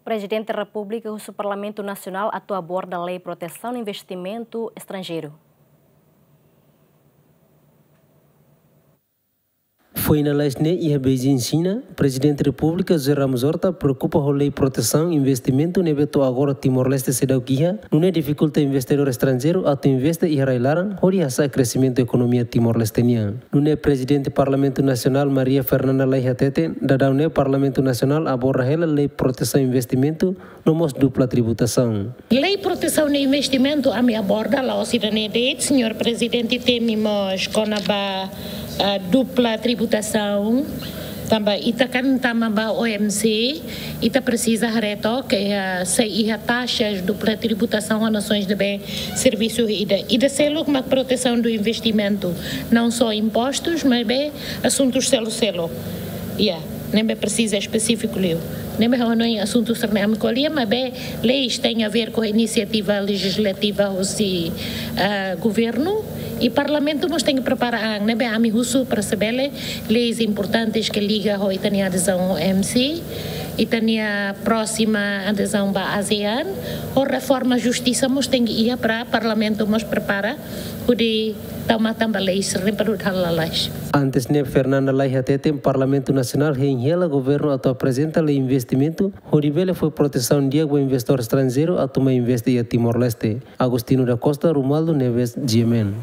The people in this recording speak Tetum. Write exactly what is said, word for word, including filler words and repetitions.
Prezidente Repúblika husu Parlamentu Nasionál atu aborda Lei Protesaun Investimentu Estranjeiru. Foin lalais ne'e iha Beijing, Xina, Prezidente Repúblika José Ramos Horta preokupa ho Lei Protesaun Investimentu ne'ebé to'o agora Timor-Leste seidauk iha, nune'e difikulta investidór estranjeiru atu investe iha rai-laran hodi hasa'e kresimentu ekonomia Timor-Leste nian. Nune'e Prezidente Parlamentu Nasionál Maria Fernanda Lay hateten, daudaun ne'e Parlamentu Nasionál aborda hela Lei Protesaun Investimentu no mós dupla tributasaun. Lei Protesaun Investimentu ami aborda, la'ós ida-ne'e de'it, Señór Prezidente, temi mós kona-ba, ah, dupla tributasaun. Tanba ita kan tama ba O M C, ita presiza haree took, ah, se iha taxas dupla tributasaun ba nasoens ne'ebé servisu ida. Ida seluk mak protesaun do investimentu, não só impostos, maibé asuntus seluk-seluk. Ya, ne'ebé presiza espesífiku liu. Ne'ebé ha'u hanoin asuntu sira-ne'e ami ko'alia, maibé leis tem a ver com iniciativa legislativa husi, ah, governu, i Parlamentu mós tenke prepara an, ne'ebé ami husu para se bele leis importantes ke liga ho ita-nia adezaun ho M C, ita-nia próxima adezaun ba ASEAN, ho reforma justisa mós tenke iha para Parlamentu mós prepara hodi tau matan ba leis sira-ne'e para lalais. Antes ne'e Fernanda Lay hateten Parlamentu Nasionál hein hela governu atu aprezenta lei investimentu hodi bele fó protesaun di'ak ba investidór estranjeiru atu mai investe iha Timor-Leste. Agostinho da Costa, Romualdo Neves, G M N.